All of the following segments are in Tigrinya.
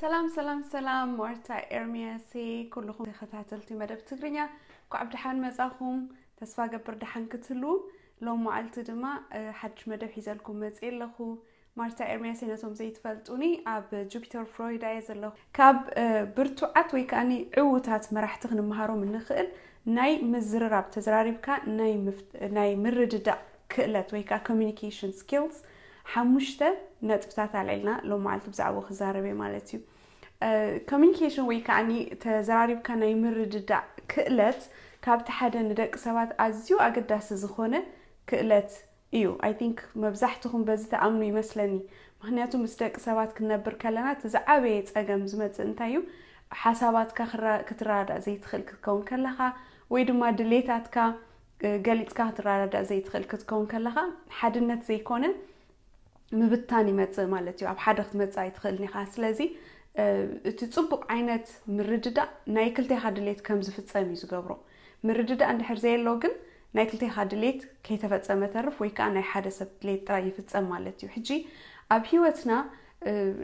ሰላም ሰላም ሰላም፣ ማርታ ኤርሚያሴ። ኩልኹም ተኸታተልቲ መደብ ትግርኛ እንኳዕ ብደሓን መጻኹም። ተስፋ ገብር ደሓን ክትህልዉ። ሎም መዓልቲ ድማ ሓድሽ መደብ ሒዘልኩም መጽእ ኣለኹ። ማርታ ኤርሚያሴ፣ ነቶም ዘይትፈልጡኒ፣ ኣብ ጁፒተር ፍሎሪዳ እየ ዘለኹ። ካብ ብርቱዓት ወይ ከዓኒ ዕዉታት መራሕቲ ክንመሃሮም እንኽእል ናይ ምዝርራብ፣ ተዘራሪብካ ናይ ምርድዳእ ክእለት ወይ ከዓ communication skills ሓሙሽተ ነጥብታት ኣልዒልና ሎም መዓልቲ ብዛዕባኡ ክዛረብ እየ ማለት እዩ። ኮሚኒኬሽን ወይ ከዓኒ ተዘራሪብካ ናይ ምርድዳእ ክእለት ካብቲ ሓደ ንደቂ ሰባት ኣዝዩ ኣገዳሲ ዝኾነ ክእለት እዩ። I think መብዛሕትኹም በዚ ተኣምኑ ይመስለኒ። ምክንያቱ ምስ ደቂ ሰባት ክንነብር ከለና እቲ ዝዓበየ ፀገም ዝመፅእ እንታይ እዩ? ሓሳባትካ ክትረዳእ ዘይትኽእል ክትከውን ከለኻ ወይ ድማ ድሌታትካ ገሊፅካ ክትረዳእ ዘይትኽእል ክትከውን ከለኻ ሓድነት ዘይኮነ ምብታን ይመፅእ ማለት እዩ። ኣብ ሓደ ክትመፅእ ኣይትኽእልን ኢኻ። ስለዚ እቲ ፅቡቕ ዓይነት ምርድዳእ ናይ ክልቴኻ ድሌት ከም ዝፍፀም እዩ ዝገብሮ። ምርድዳእ እንድሕር ዘየሎ ግን ናይ ክልቴኻ ድሌት ከይተፈፀመ ተርፍ ወይ ከዓ ናይ ሓደ ሰብ ድሌት ጥራይ ይፍፀም ማለት እዩ። ሕጂ ኣብ ህይወትና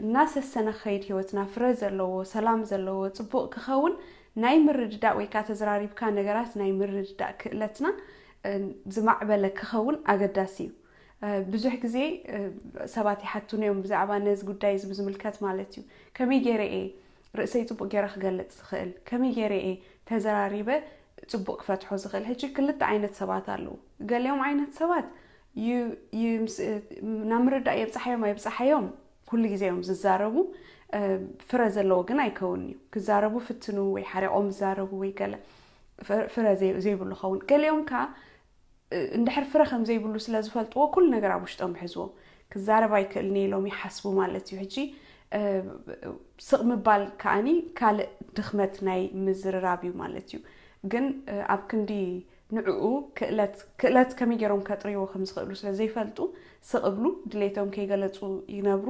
እናሰሰነ ክኸይድ፣ ህይወትና ፍረ ዘለዎ፣ ሰላም ዘለዎ፣ ፅቡቕ ክኸውን ናይ ምርድዳእ ወይ ከዓ ተዘራሪብካ ነገራት ናይ ምርድዳእ ክእለትና ዝማዕበለ ክኸውን ኣገዳሲ እዩ። ብዙሕ ግዜ ሰባት ይሓቱኒ እዮም ብዛዕባ ነዚ ጉዳይ እዚ ብዝምልከት ማለት እዩ። ከመይ ገይረ እየ ርእሰይ ፅቡቕ ገይረ ክገልፅ ዝኽእል? ከመይ ገይረ እየ ተዘራሪበ ፅቡቕ ክፈትሖ ዝኽእል? ሕጂ ክልተ ዓይነት ሰባት ኣለዉ። ገሊኦም ዓይነት ሰባት ናብ ምርዳእ የብፅሓዮም ኣይብፅሓዮም ኩሉ ግዜ እዮም ዝዛረቡ። ፍረ ዘለዎ ግን ኣይከውን እዩ። ክዛረቡ ፍትኑ ወይ ሓሪቖም ዝዛረቡ ወይ ገለ ፍረ ዘይብሉ ኸውን። ገሊኦም ከዓ እንድሕር ፍረ ከም ዘይብሉ ስለ ዝፈልጥዎ ኩሉ ነገር ኣብ ውሽጦም ይሕዝዎ። ክዛረብ ኣይክእልን እየ ኢሎም ይሓስቡ ማለት እዩ። ሕጂ ስቕ ምባል ከዓኒ ካልእ ድኽመት ናይ ምዝርራብ እዩ ማለት እዩ። ግን ኣብ ክንዲ ንዕኡ ክእለት ክእለት ከመይ ገይሮም ከጥርይዎ ከም ዝኽእሉ ስለ ዘይፈልጡ ስቕ እብሉ ድሌቶም ከይገለፁ ይነብሩ።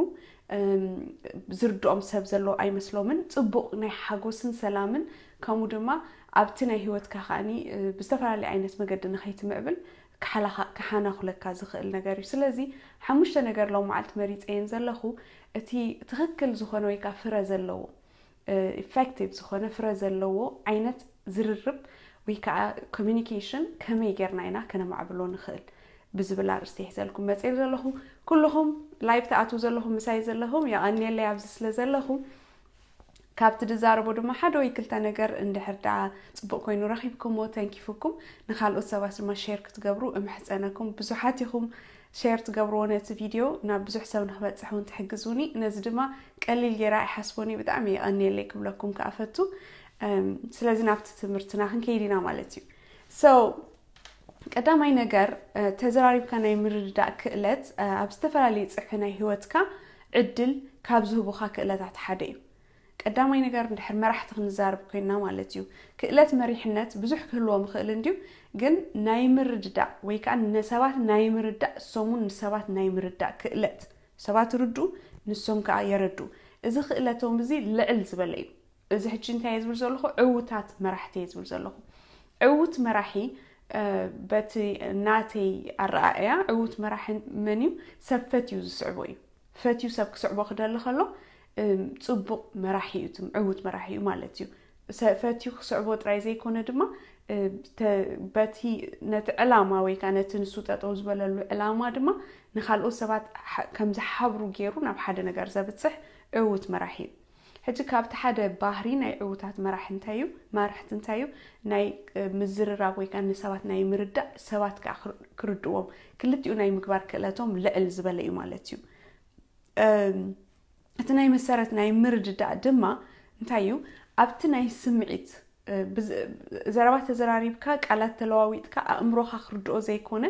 ዝርድኦም ሰብ ዘሎ ኣይመስሎምን። ፅቡቕ ናይ ሓጎስን ሰላምን ከምኡ ድማ ኣብቲ ናይ ህይወትካ ከዓኒ ብዝተፈላለየ ዓይነት መገዲ ንኸይትምዕብል ክሓናኹለካ ዝኽእል ነገር እዩ። ስለዚ ሓሙሽተ ነገር ሎም መዓልቲ መሪፀየን ዘለኹ እቲ ትኽክል ዝኾነ ወይ ከዓ ፍረ ዘለዎ ኢፌክቲቭ ዝኾነ ፍረ ዘለዎ ዓይነት ዝርርብ ወይ ከዓ ኮሚኒኬሽን ከመይ ጌርና ኢና ከነማዕብሎ ንኽእል ብዝብል ኣርእስቲ ሒዘልኩም መፅእ ዘለኹ። ኩልኹም ላይቭ ትኣትዉ ዘለኹም ምሳይ ዘለኹም የቐንየለይ ኣብዚ ስለ ዘለኹም። ካብቲ ድዛረቦ ድማ ሓደ ወይ ክልተ ነገር እንድሕር ደኣ ፅቡቕ ኮይኑ ረኺብኩሞ ተንኪፉኩም ንካልኦት ሰባት ድማ ሼር ክትገብሩ እምሕፀነኩም። ብዙሓት ኢኹም ሼር ትገብርዎ ነቲ ቪድዮ ናብ ብዙሕ ሰብ ንክበፅሕ እውን ትሕግዙኒ። ነዚ ድማ ቀሊል ገይራ ኣይሓስቦን እየ። ብጣዕሚ የቐንየለይ ክብለኩም ከኣ ፈቱ። ስለዚ ናብቲ ትምህርትና ክንከይድ ኢና ማለት እዩ። So ቀዳማይ ነገር ተዘራሪብካ ናይ ምርድዳእ ክእለት ኣብ ዝተፈላለዩ ፅፍሒ ናይ ህይወትካ ዕድል ካብ ዝህቡኻ ክእለታት ሓደ እዩ። ቀዳማይ ነገር እንድሕር መራሕቲ ክንዛረብ ኮይና ማለት እዩ። ክእለት መሪሕነት ብዙሕ ክህልዎም ይኽእል እንድዩ፣ ግን ናይ ምርድዳእ ወይ ከዓ ንሰባት ናይ ምርዳእ እሶም እውን ንሰባት ናይ ምርዳእ ክእለት፣ ሰባት ይርድኡ ንሶም ከዓ የረድኡ። እዚ ክእለቶም እዚ ልዕል ዝበለ እዩ። እዚ ሕጂ እንታይ እየ ዝብል ዘለኹ? ዕዉታት መራሕቲ እየ ዝብል ዘለኹ። ዕዉት መራሒ በቲ ናተይ ኣረኣእያ ዕዉት መራሒ መን እዩ? ሰብ ፈትዩ ዝስዕቦ እዩ። ፈትዩ ሰብ ክስዕቦ ክደሊ ከሎ ፅቡቕ መራሒ እዩ፣ ዕዉት መራሒ እዩ ማለት እዩ። ፈትዩ ክስዕቦ ጥራይ ዘይኮነ ድማ በቲ ነቲ ዕላማ ወይ ከዓ ነቲ ንሱ ጠጠው ዝበለሉ ዕላማ ድማ ንካልኦት ሰባት ከም ዝሓብሩ ገይሩ ናብ ሓደ ነገር ዘብፅሕ ዕዉት መራሒ እዩ። ሕጂ ካብቲ ሓደ ባህሪ ናይ ዕዉታት መራሒ እንታይ እዩ? መራሕቲ እንታይ እዩ? ናይ ምዝርራብ ወይ ከዓ ንሰባት ናይ ምርዳእ፣ ሰባት ከዓ ክርድዎም፣ ክልቲኡ ናይ ምግባር ክእለቶም ልዕል ዝበለ እዩ ማለት እዩ። እቲ ናይ መሰረት ናይ ምርድዳእ ድማ እንታይ እዩ? ኣብቲ ናይ ስምዒት ዘረባ ተዘራሪብካ፣ ቃላት ተለዋዊጥካ፣ ኣእምሮኻ ክርድኦ ዘይኮነ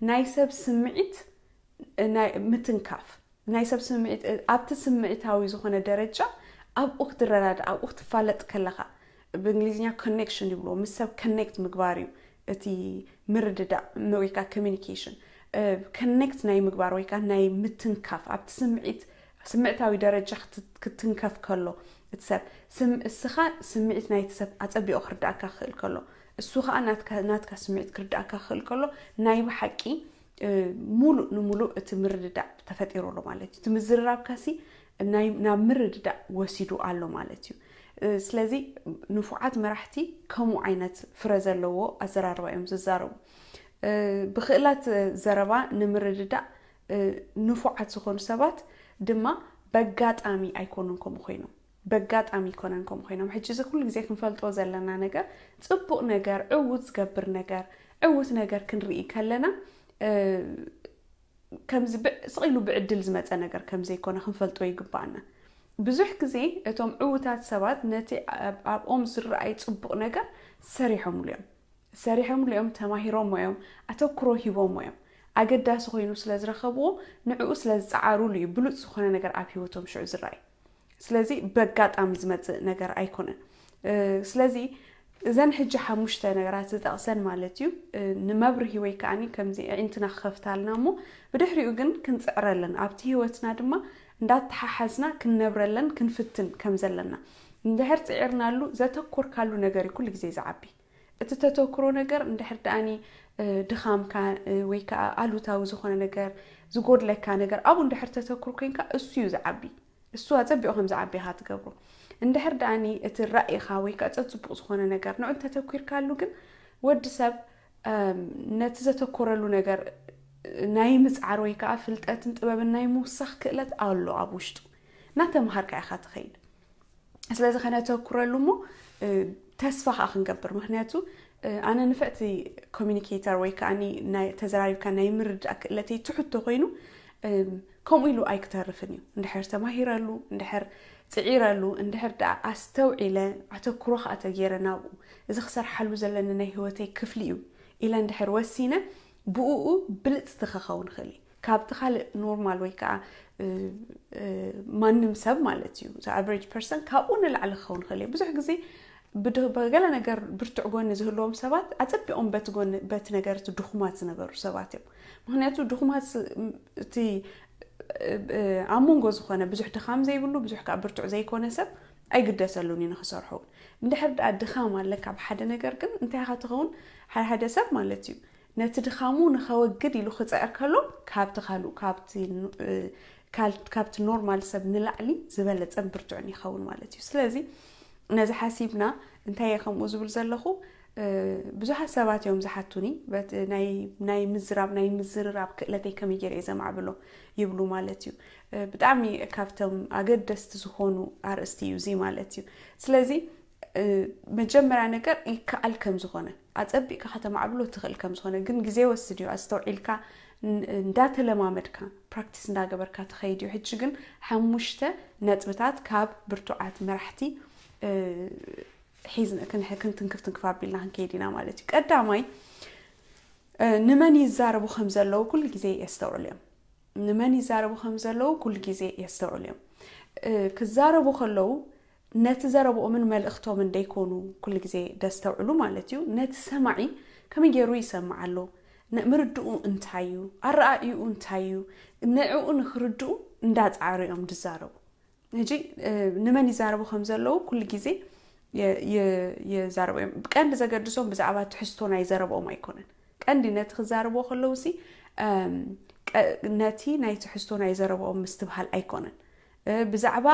ናይ ሰብ ስምዒት ምትንካፍ፣ ናይ ሰብ ስምዒት ኣብቲ ስምዒታዊ ዝኾነ ደረጃ ኣብኡ ክትረዳዳእ፣ ኣብኡ ክትፋለጥ ከለኻ፣ ብእንግሊዝኛ ኮኔክሽን ይብልዎ፣ ምስ ሰብ ኮኔክት ምግባር እዩ እቲ ምርድዳእ ወይ ከዓ ኮሚኒኬሽን። ኮኔክት ናይ ምግባር ወይ ከዓ ናይ ምትንካፍ፣ ኣብቲ ስምዒት ስምዕታዊ ደረጃ ክትንከፍ ከሎ እቲ ሰብ፣ እስኻ ስምዒት ናይቲ ሰብ ኣፀቢቑ ክርዳእካ ክኽእል ከሎ፣ እሱ ከዓ ናትካ ስምዒት ክርዳእካ ክኽእል ከሎ፣ ናይ ብሓቂ ሙሉእ ንሙሉእ እቲ ምርድዳእ ተፈጢሩ ኣሎ ማለት እዩ። እቲ ምዝርራብካሲ ናይ ናብ ምርድዳእ ወሲዱ ኣሎ ማለት እዩ። ስለዚ ንፉዓት መራሕቲ ከምኡ ዓይነት ፍረ ዘለዎ ኣዘራርባ እዮም ዝዛረቡ። ብክእላት ዘረባ ንምርድዳእ ንፉዓት ዝኾኑ ሰባት ድማ በጋጣሚ ኣይኮኑን ከምኡ ኮይኖም በጋጣሚ ኣይኮነን ከምኡ ኮይኖም። ሕጂ እዚ ኩሉ ግዜ ክንፈልጦ ዘለና ነገር፣ ፅቡቕ ነገር፣ ዕውት ዝገብር ነገር፣ ዕውት ነገር ክንርኢ ከለና ከምዚ ስቕ ኢሉ ብዕድል ዝመፀ ነገር ከምዘይኮነ ክንፈልጦ ይግባኣና። ብዙሕ ግዜ እቶም ዕውታት ሰባት ነቲ ኣብኦም ዝረኣይ ፅቡቕ ነገር ሰሪሖምሉ እዮም። ሰሪሖምሉ እዮም፣ ተማሂሮሞ እዮም፣ ኣተኩሮ ሂቦሞ እዮም። ኣገዳሲ ኮይኑ ስለ ዝረኸብዎ ንዕኡ ስለ ዝፀዓሩሉ እዩ ብሉፅ ዝኾነ ነገር ኣብ ሂወቶም ሽዑ ዝረኣይ። ስለዚ በጋጣሚ ዝመፅእ ነገር ኣይኮነን። ስለዚ እዘን ሕጂ ሓሙሽተ ነገራት ዝጠቕሰን ማለት እዩ፣ ንመብርሂ ወይ ከዓኒ ከምዚ ኣዒንትና ክኸፍታልና እሞ ብድሕሪኡ ግን ክንፅዕረለን ኣብቲ ሂወትና ድማ እንዳተሓሓዝና ክንነብረለን ክንፍትን ከም ዘለና። እንድሕር ፅዒርናሉ ዘተኮርካሉ ነገር እዩ ኩሉ ግዜ ዝዓቢ። እቲ ተተኩሮ ነገር እንድሕር ደኣኒ ድኻምካ ወይ ከዓ ኣሉታዊ ዝኾነ ነገር ዝጎድለካ ነገር ኣብኡ እንድሕር ተተኩር ኮይንካ እሱ እዩ ዝዓቢ። እሱ ኣፀቢቑ ከም ዝዓቢ ኢኻ ትገብሮ። እንድሕር ደኣኒ እቲ ራእይኻ ወይ ከዓ ፀፅቡቕ ዝኾነ ነገር ንዑ እንተተኩርካሉ ግን ወዲ ሰብ ነቲ ዘተኮረሉ ነገር ናይ ምፅዓር ወይ ከዓ ፍልጠትን ጥበብን ናይ ምውሳኽ ክእለት ኣሎ ኣብ ውሽጡ። እናተምሃርካ ኢኻ ትኸይድ። ስለዚ ከነተኩረሉ እሞ ተስፋ ከዓ ክንገብር። ምክንያቱ ኣነ ንፍዕቲ ኮሚኒኬተር ወይ ከዓ ተዘራሪብካ ናይ ምርዳእ ክእለተይ ትሕቶ ኮይኑ ከምኡ ኢሉ ኣይክተርፍን እዩ። እንድሕር ተማሂረሉ፣ እንድሕር ፅዒረሉ፣ እንድሕር ደኣ ኣስተውዒለ ኣተኩሮ ከዓ ተገይረ ናብኡ፣ እዚ ክሰርሓሉ ዘለኒ ናይ ህይወተይ ክፍሊ እዩ ኢለ እንድሕር ወሲነ ብኡ ብልፅቲ ክኸውን ይኽእል እዩ። ካብቲ ካልእ ኖርማል ወይ ከዓ ማንም ሰብ ማለት እዩ፣ ኣቨሬጅ ፐርሰን ካብኡ ንላዕሊ ክኸውን ይኽእል እዩ። ብዙሕ ግዜ ብገለ ነገር ብርቱዕ ጎኒ ዝህልዎም ሰባት ኣፀቢቖም በቲ ጎኒ በቲ ነገር እቲ ድኹማት ዝነበሩ ሰባት እዮም። ምክንያቱ ድኹማት እቲ ኣብ መንጎ ዝኾነ ብዙሕ ድኻም ዘይብሉ ብዙሕ ከዓ ብርቱዕ ዘይኮነ ሰብ ኣይግደሰሉን እዩ ንክሰርሖ እውን። እንድሕር ደኣ ድኻም ኣለካ ኣብ ሓደ ነገር ግን እንታይ ኢኻ ትኸውን? ሓደ ሓደ ሰብ ማለት እዩ ነቲ ድኻሙ ንኸወግድ ኢሉ ክፅዕር ከሎ ካብቲ ካልኡ ካብቲ ኖርማል ሰብ ንላዕሊ ዝበለፀን ብርቱዕን ይኸውን ማለት እዩ። ስለዚ ነዚ ሓሲብና እንታይ እየ ከምኡ ዝብል ዘለኹ፣ ብዙሓት ሰባት እዮም ዝሓቱኒ ናይ ምዝራብ ናይ ምዝርራብ ክእለተይ ከመይ ገይረ እየ ዘማዕብሎ ይብሉ ማለት እዩ። ብጣዕሚ ካብቶም ኣገደስቲ ዝኾኑ ኣርእስቲ እዩ እዚ ማለት እዩ። ስለዚ መጀመርያ ነገር ይከኣል ከም ዝኾነ ኣፀቢቕካ ከተማዕብሎ ትኽእል ከም ዝኾነ ግን ግዜ ወስድ እዩ። ኣስተውዒልካ እንዳተለማመድካ ፕራክቲስ እንዳገበርካ ትኸይድ እዩ። ሕጂ ግን ሓሙሽተ ነጥብታት ካብ ብርቱዓት መራሕቲ ሒዝና ክንትንክፍ ትንክፍ ኣቢልና ክንከይድ ኢና ማለት እዩ። ቀዳማይ ንመን ይዛረቡ ከም ዘለዉ ኩሉ ግዜ የስተውዕሉ እዮም። ንመን ይዛረቡ ከም ዘለዉ ኩሉ ግዜ የስተውዕሉ እዮም። ክዛረቡ ከለዉ ነቲ ዘረብኦምን መልእኽቶምን ደይኮኑ ኩሉ ግዜ ደስተውዕሉ ማለት እዩ። ነቲ ሰማዒ ከመይ ገይሩ ይሰምዕ ኣሎ፣ ምርድኡ እንታይ እዩ፣ ኣረኣእይኡ እንታይ እዩ፣ ንዕኡ ንክርድኡ እንዳፃዕሩ እዮም ዝዛረቡ። ሕጂ ንመን ይዛረቡ ከም ዘለዉ ኩሉ ግዜ ይዛረቡ እዮም። ቀንዲ ዘገድሶም ብዛዕባ ትሕዝቶ ናይ ዘረብኦም ኣይኮነን። ቀንዲ ነቲ ክዛረብዎ ከለዉ ሲ ነቲ ናይ ትሕዝቶ ናይ ዘረብኦም ምስትብሃል ኣይኮነን። ብዛዕባ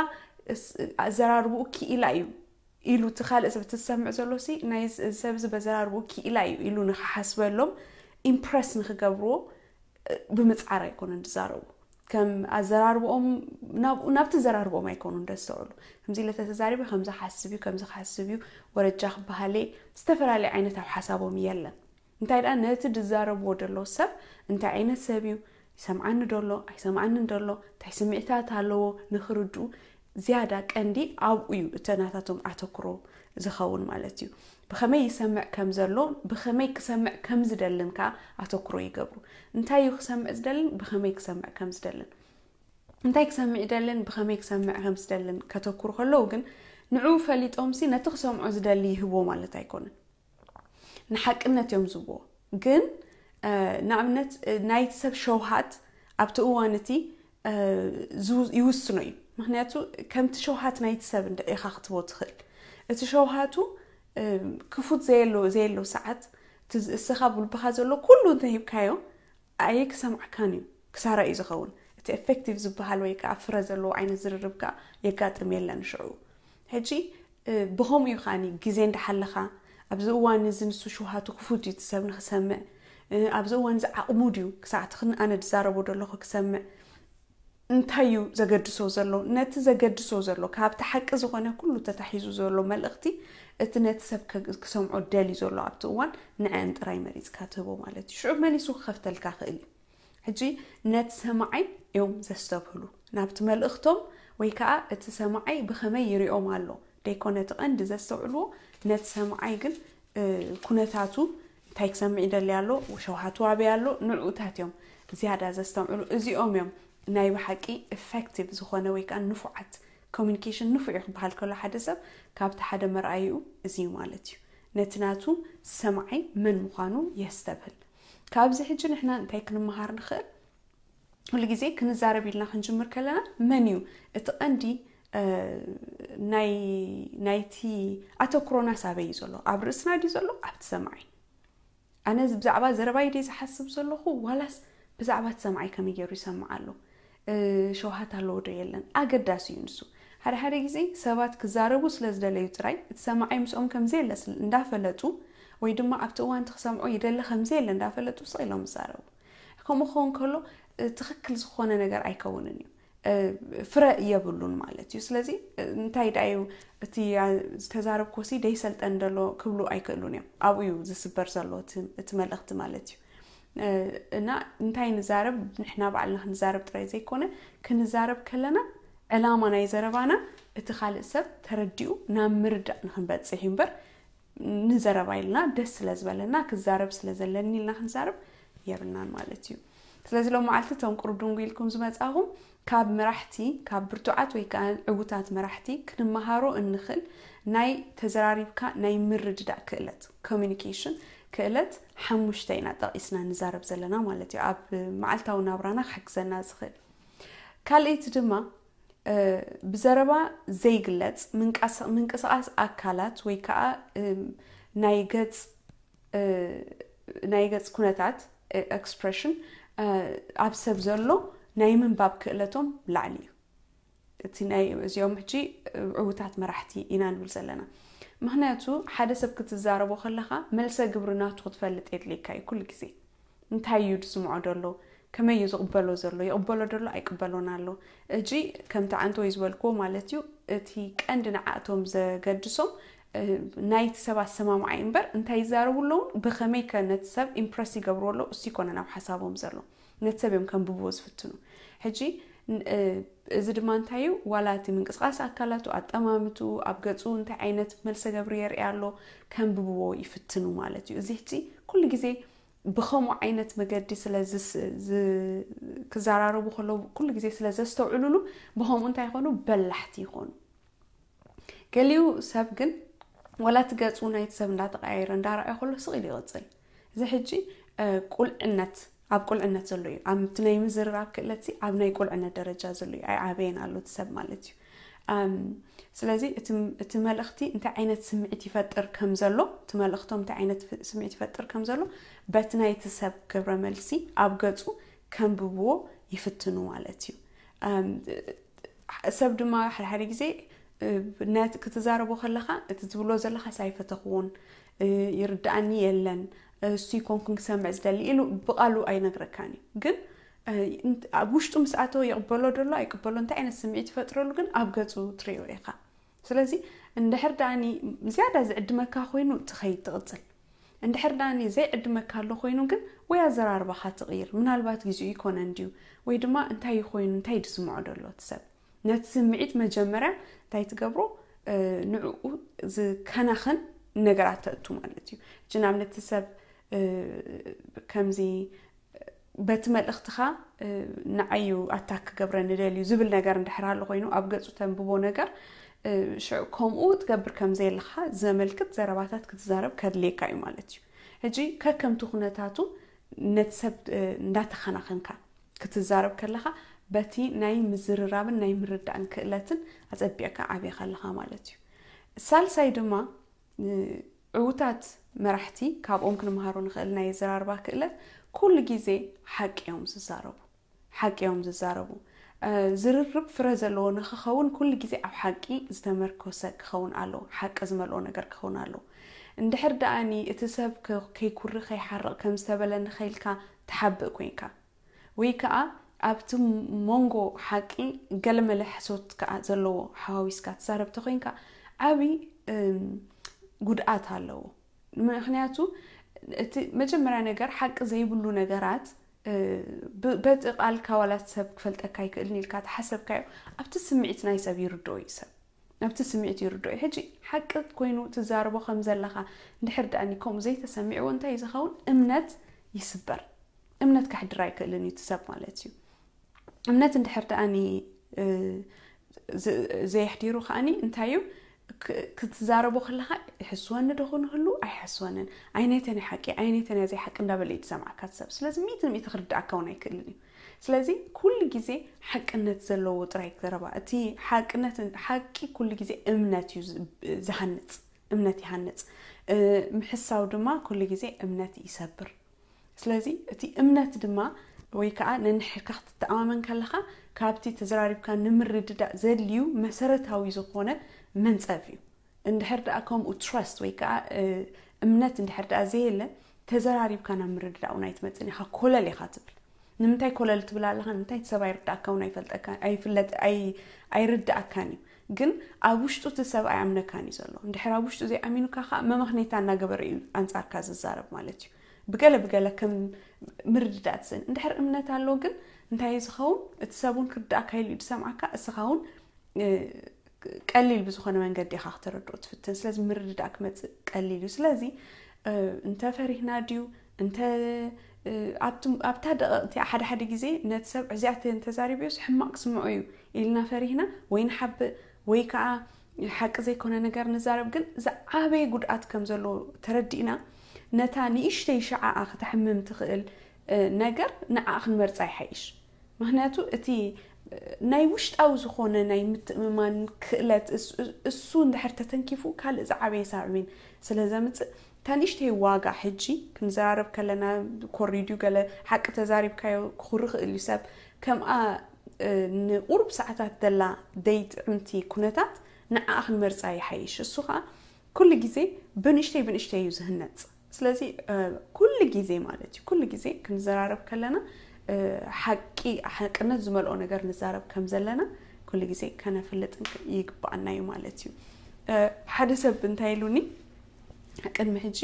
ኣዘራርብኡ ክኢላ እዩ ኢሉ እቲ ካልእ ሰብ ትሰምዕ ዘሎ ሲ ናይ ሰብ እዚ በዘራርብኡ ክኢላ እዩ ኢሉ ንክሓስበሎም ኢምፕረስ ንክገብርዎ ብምፅዓር ኣይኮነን ዝዛረቡ። ከም ኣዘራርብኦም ናብቲ ዘራርብኦም ኣይኮኑን ደስተውዕሉ። ከምዚ ኢለ ተተዛሪበ ከምዚ ክሓስብ እዩ ከምዚ ክሓስብ እዩ ወረጃ ክበሃለ ዝተፈላለየ ዓይነት ኣብ ሓሳቦም የለን። እንታይ ደኣ ነቲ ዝዛረብዎ ዘለዉ ሰብ እንታይ ዓይነት ሰብ እዩ፣ ይሰምዓኒ ዶ ኣሎ ኣይሰምዓንን ዶ ኣሎ፣ እንታይ ስምዒታት ኣለዎ ንክርድኡ ዝያዳ ቀንዲ ኣብኡ እዩ እቲ ናታቶም ኣተኩሮ ዝኸውን ማለት እዩ። ብኸመይ ይሰምዕ ከም ዘሎ ብኸመይ ክሰምዕ ከም ዝደልን ከዓ ኣተኩሮ ይገብሩ። እንታይ እዩ ክሰምዕ ዝደልን ብኸመይ ክሰምዕ ከም ዝደልን እንታይ ክሰምዕ ይደልን ብኸመይ ክሰምዕ ከም ዝደልን ከተኩሩ ከለዉ ግን ንዕኡ ፈሊጦምሲ ነቲ ክሰምዖ ዝደሊ ይህብዎ ማለት ኣይኮነን። ንሓቅነት እዮም ዝብዎ። ግን ንኣብነት ናይቲ ሰብ ሸውሃት ኣብቲ እዋን እቲ ይውስኖ እዩ። ምክንያቱ ከምቲ ሸውሃት ናይቲ ሰብ እንደ ኢኻ ክትቦ ትኽእል። እቲ ሸውሃቱ ክፉት ዘየሎ ዘየሎ ሰዓት እስኻ ብልብኻ ዘሎ ኩሉ እንተሂብካዮ ኣየ ክሰምዕካን እዩ ክሳራ እዩ ዝኸውን። እቲ effective ዝበሃል ወይ ከዓ ፍረ ዘለዎ ዓይነት ዝርርብ ከዓ የጋጥም የለን። ሽዑ ሕጂ ብኸምኡ እዩ ከዓኒ ግዜ እንዳሓለኻ ኣብዚ እዋን እዚ ንሱ ሽውሃቱ ክፉት እዩ እቲ ሰብ ንክሰምዕ፣ ኣብዚ እዋን እዚ ዓቕሙ ድዩ ክሳዕ እቲ ኣነ ዝዛረቦ ዘለኹ ክሰምዕ፣ እንታይ እዩ ዘገድሶ ዘሎ? ነቲ ዘገድሶ ዘሎ ካብቲ ሓቂ ዝኾነ ኩሉ ተታሒዙ ዘሎ መልእኽቲ እቲ ነቲ ሰብ ክሰምዖ ደልዩ ዘሎ ኣብቲ እዋን ንዐን ጥራይ መሪፅካ ትህቦ ማለት እዩ። ሽዑ መሊሱ ክኸፍተልካ ክእል እዩ። ሕጂ ነቲ ሰማዓይ እዮም ዘስተብህሉ ናብቲ መልእኽቶም ወይ ከዓ እቲ ሰማዓይ ብኸመይ ይሪኦም ኣሎ ደይኮነ እቲ ቀንዲ ዘስተውዕልዎ ነቲ ሰማዓይ ግን ኩነታቱ እንታይ ክሰምዕ ይደሊ ኣሎ፣ ሸውሃቱ ኣበይ ኣሎ፣ ንዕኡታት እዮም ዝያዳ ዘስተውዕሉ። እዚኦም እዮም ናይ ብሓቂ effective ዝኾነ ወይ ከዓ ንፉዓት communication ንፉዕ እዩ ክበሃል ከሎ ሓደ ሰብ ካብቲ ሓደ መርኣይኡ እዚ እዩ ማለት እዩ። ነቲ ናቱ ሰማዓይ መን ምዃኑ የስተብህል። ካብዚ ሕጂ ንሕና እንታይ ክንመሃር ንኽእል? ኩሉ ግዜ ክንዛረብ ኢልና ክንጅምር ከለና መን እዩ እቲ ቀንዲ ናይ ናይቲ ኣተኩሮና ሳበይ እዩ ዘሎ? ኣብ ርእስና ድዩ ዘሎ ኣብቲ ሰማዓይ? ኣነ ብዛዕባ ዘረባይ ደይ ዝሓስብ ዘለኹ ዋላስ ብዛዕባ እቲ ሰማዓይ ከመይ ገይሩ ይሰምዕ ኣሎ? ሸውሃት ኣለዎ ዶ የለን? ኣገዳሲ እዩ ንሱ። ሓደ ሓደ ግዜ ሰባት ክዛረቡ ስለ ዝደለዩ ጥራይ እቲ ሰማዓይ ምስኦም ከምዘየለ እንዳፈለጡ ወይ ድማ ኣብቲ እዋን እቲ ክሰምዖ ይደሊ ከምዘየለ እንዳፈለጡ ስቕ ኢሎም ይዛረቡ። ከምኡ ክኸውን ከሎ ትኽክል ዝኾነ ነገር ኣይከውንን እዩ። ፍረ የብሉን ማለት እዩ። ስለዚ እንታይ ደኣ እዩ እቲ ዝተዛረብኮሲ ደይሰልጠን ደሎ ክብሉ ኣይክእሉን እዮም። ኣብኡ እዩ ዝስበር ዘሎ እቲ መልእኽቲ ማለት እዩ። እና እንታይ ንዛረብ ንሕና ባዕልና ክንዛረብ ጥራይ ዘይኮነ ክንዛረብ ከለና ዕላማ ናይ ዘረባና እቲ ካልእ ሰብ ተረዲኡ ናብ ምርዳእ ንክንበፅሕ እዩ እምበር ንዘረባ ኢልና ደስ ስለ ዝበለና ክዛረብ ስለ ዘለኒ ኢልና ክንዛረብ የብልናን ማለት እዩ። ስለዚ ሎም መዓልቲ እቶም ቁሩብ ድንጉ ኢልኩም ዝመጻኹም ካብ መራሕቲ ካብ ብርቱዓት ወይ ከዓ ዕዉታት መራሕቲ ክንመሃሮ እንኽእል ናይ ተዘራሪብካ ናይ ምርድዳእ ክእለት communication ክእለት ሓሙሽተ ኢና ጠቒስና ንዛረብ ዘለና ማለት እዩ። ኣብ መዓልታዊ ናብራና ክሕግዘና ዝኽእል ካልኣይቲ ድማ ብዘረባ ዘይግለጽ ምንቅስቓስ ኣካላት ወይ ከዓ ናይ ገጽ ናይ ገጽ ኩነታት expression ኣብ ሰብ ዘሎ ናይ ምንባብ ክእለቶም ላዕሊ እዩ። እቲ ናይ እዚኦም ሕጂ ዕዉታት መራሕቲ ኢና ንብል ዘለና። ምክንያቱ ሓደ ሰብ ክትዛረቦ ከለኻ መልሰ ግብሪ ናቱ ክትፈልጥ የድልየካ እዩ ኩሉ ግዜ። እንታይ እዩ ዝስምዖ ዘሎ? ከመይ እዩ ዝቕበሎ ዘሎ? ይቕበሎ ደሎ ኣይቅበሎን ኣሎ? እጂ ከምቲ ዓንተወይ ዝበልክዎ ማለት እዩ እቲ ቀንዲ ንዓእቶም ዘገድሶም ናይቲ ሰብ ኣሰማምዓይ እምበር እንታይ ይዛረቡ ኣለውን ብኸመይ ከ ነቲ ሰብ ኢምፕረስ ይገብርዎ ኣለዉ እሱ ይኮነ ናብ ሓሳቦም ዘሎ ነቲ ሰብ እዮም ከንብብዎ ዝፍትኑ። ሕጂ እዚ ድማ እንታይ እዩ ዋላ እቲ ምንቅስቃስ ኣካላቱ ኣጠማምቱ ኣብ ገፁ እንታይ ዓይነት መልሰ ገብሪ የርኢ ኣሎ ከንብብዎ ይፍትኑ ማለት እዩ። እዚ ሕጂ ኩሉ ግዜ ብኸምኡ ዓይነት መገዲ ስለ ክዘራረቡ ከለዉ ኩሉ ግዜ ስለ ዘስተውዕሉሉ ብኸምኡ እንታይ ይኾኑ በላሕቲ ይኾኑ። ገሊኡ ሰብ ግን ዋላ እቲ ገፁ ናይቲ ሰብ እንዳተቀያየረ እንዳረኣየ ከሎ ስቕ ኢሉ ይቕፅል። እዚ ሕጂ ቁልዕነት ኣብ ቁልዕነት ዘሎ እዩ። ኣብቲ ናይ ምዝርራብ ክእለት ኣብ ናይ ቁልዕነት ደረጃ ዘሎ እዩ። ኣይዓበየን ኣሎ እቲ ሰብ ማለት እዩ። ስለዚ እቲ መልእኽቲ እንታይ ዓይነት ስምዒት ይፈጥር ከም ዘሎ እቲ መልእኽቶም እንታይ ዓይነት ስምዒት ይፈጥር ከም ዘሎ በቲ ናይቲ ሰብ ግብረ መልሲ ኣብ ገፁ ከንብብዎ ይፍትኑ ማለት እዩ። ሰብ ድማ ሓደ ሓደ ግዜ ነቲ ክትዛረቦ ከለኻ እቲ ዝብሎ ዘለኻስ ኣይፈተኽዎን፣ ይርድኣኒ የለን፣ እሱ ይኮንኩን ክሰምዕ ዝደሊ ኢሉ ብቓሉ ኣይነግረካን እዩ። ግን ኣብ ውሽጡ ምስ ኣተወ ይቕበሎ ደሎ ኣይቅበሎ እንታይ ዓይነት ስምዒት ይፈጥረሉ ግን ኣብ ገፁ ትሪኦ ኢኻ። ስለዚ እንድሕር ደኣኒ ዝያዳ ዝዕድመካ ኮይኑ ትኸይድ ትቕፅል። እንድሕር ደኣኒ ዘይዕድመካ ኣሎ ኮይኑ ግን ወይ ኣዘራርባኻ ትቕይር ምናልባት ግዚኡ ይኮነ እንድዩ ወይ ድማ እንታይ ኮይኑ እንታይ ድስምዖ ደሎ እቲ ሰብ ነቲ ስምዒት መጀመርያ እንታይ ትገብሮ ንዕኡ ዝከናኸን ነገራት ተእቱ ማለት እዩ። ሕጂ ንኣብነት እቲ ሰብ ከምዚ በቲ መልእኽትኻ ንዓዩ ኣታክ ክገብረኒ ደልዩ ዝብል ነገር እንድሕር ኣሎ ኮይኑ ኣብ ገፁ ተንብቦ ነገር ሽዑ ከምኡ ትገብር ከም ዘየለኻ ዘመልክት ዘረባታት ክትዛረብ ከድልየካ እዩ ማለት እዩ። ሕጂ ከከምቲ ኩነታቱ ነቲ ሰብ እንዳተኸናኸንካ ክትዛረብ ከለኻ በቲ ናይ ምዝርራብን ናይ ምርዳእን ክእለትን ኣፀቢቕካ ዓብኻ ኣለኻ ማለት እዩ። ሳልሳይ ድማ ዕዉታት መራሕቲ ካብኦም ክንመሃሮ ንኽእል ናይ ኣዘራርባ ክእለት ኩሉ ግዜ ሓቂ እዮም ዝዛረቡ። ሓቂ እዮም ዝዛረቡ። ዝርርብ ፍረ ዘለዎ ንክኸውን ኩሉ ግዜ ኣብ ሓቂ ዝተመርኮሰ ክኸውን ኣለዎ። ሓቂ ዝመልኦ ነገር ክኸውን ኣለዎ። እንድሕር ደኣኒ እቲ ሰብ ከይኩሪ ከይሓርቕ ከም ዝተበለ ንኸይልካ ትሓብእ ኮይንካ፣ ወይ ከዓ ኣብቲ መንጎ ሓቂ ገለመለ ሕሶት ከዓ ዘለዎ ሓዋዊስካ ትዛረብ ተኮይንካ ዓብዪ ጉድኣት ኣለዎ። ምክንያቱ እቲ መጀመርያ ነገር ሓቂ ዘይብሉ ነገራት በቲ ቃልካ ዋላ ሰብ ክፈልጠካ ኣይክእልን ኢልካ ተሓሰብካዮ ኣብቲ ስምዒት ናይ ሰብ ይርድኦ እዩ ሰብ ኣብቲ ስምዒት ይርድኦ እዩ። ሕጂ ሓቂ ኮይኑ ትዛርቦ ከም ዘለኻ እንድሕር ደኣኒ ከምኡ ዘይተሰሚዕዎ እንታይ ዝኸውን እምነት ይስበር። እምነት ከሕድር ኣይክእልን እዩ እቲ ሰብ ማለት እዩ። እምነት እንድሕር ደኣኒ ዘየሕዲሩ ከዓኒ እንታይ እዩ ክትዛረቦ ከለኻ ይሕስወኒ ዶ ክንህሉ ኣይሕስወንን ኣይነተን ሓቂ ኣይነተን ዘይሓቂ እንዳበለ እዩ ዝሰምዓካ ሰብ። ስለዚ ሚእቲ ሚእቲ ክርድኣካ እውን ኣይክእልን እዩ። ስለዚ ኩሉ ግዜ ሓቅነት ዘለዎ ጥራይ ዘረባ እቲ ሓቅነት ሓቂ ኩሉ ግዜ እምነት እዩ ዝሃንፅ እምነት ይሃንፅ። ምሕሳው ድማ ኩሉ ግዜ እምነት ይሰብር። ስለዚ እቲ እምነት ድማ ወይ ከዓ ነንሕካ ክትተኣማመን ከለኻ ካብቲ ተዘራሪብካ ንምርድዳእ ዘድልዩ መሰረታዊ ዝኾነ መንፀፍ እዩ። እንድሕር ደኣ ከምኡ ትረስት ወይ ከዓ እምነት እንድሕር ደኣ ዘየለ ተዘራሪብካ ናብ ምርድዳእ እውን ኣይትመፅን ኢኻ። ኮለል ኢኻ ትብል። ንምንታይ ኮለል ትብል ኣለኻ? ንምንታይ እቲ ሰብ ኣይርዳእካ እውን ኣይፈልጠካ ኣይፍለጥ ኣይርዳእካን እዩ። ግን ኣብ ውሽጡ እቲ ሰብ ኣይኣምነካን እዩ ዘሎ። እንድሕር ኣብ ውሽጡ ዘይኣሚኑካ ከዓ መመኽኔታ እናገበረ እዩ ኣንፃርካ ዝዛረብ ማለት እዩ። ብገለ ብገለ ከም ምርድዳእ ትስእን። እንድሕር እምነት ኣሎ ግን እንታይ እዩ ዝኸውን? እቲ ሰብ እውን ክርዳእካ ኢሉ እዩ ዝሰምዓካ። እስኻ እውን ቀሊል ብዝኾነ መንገዲ ኢኻ ክተረድኦ ትፍትን። ስለዚ ምርድዳእ ክመፅእ ቀሊል እዩ። ስለዚ እንተ ፈሪህና ድዩ እንተ ኣብታ ደቐቕቲ ሓደ ሓደ ግዜ ነቲ ሰብ እዚኣተ እንተዛሪብዮስ ሕማቕ ክስምዖ እዩ ኢልና ፈሪህና ወይ ንሓብእ ወይ ከዓ ሓቂ ዘይኮነ ነገር ንዛረብ። ግን ዝዓበየ ጉድኣት ከም ዘለዎ ተረዲእና ነታ ንእሽተይ ሸዓኣ ክተሕምም ትኽእል ነገር ንዓ ክንመርፃ ይሓይሽ። ምክንያቱ እቲ ናይ ውሽጣዊ ዝኾነ ናይ ምትእምማን ክእለት እሱ እንድሕር ተተንኪፉ ካልእ ዝዓበየ ሳዕቤን ስለ ዘምፅእ እታ ንእሽተይ ዋጋ ሕጂ ክንዘራረብ ከለና ኮሪድዩ ገለ ሓቂ ተዛሪብካዮ ክኹሪ ክእል እዩ ሰብ ከምኣ ንቁሩብ ሰዓታት ዘላ ደይ ጥዕምቲ ኩነታት ንዓኣ ክንመርፃ ይሓይሽ። እሱ ከዓ ኩሉ ግዜ ብንእሽተይ ብንእሽተይ እዩ ዝህነፅ። ስለዚ ኩሉ ግዜ ማለት እዩ ኩሉ ግዜ ክንዘራረብ ከለና ሓቂ ሓቅነት ዝመልኦ ነገር ንዛረብ ከም ዘለና ኩሉ ግዜ ከነፍልጥ ይግባኣና እዩ ማለት እዩ። ሓደ ሰብ እንታይ ኢሉኒ ቅድሚ ሕጂ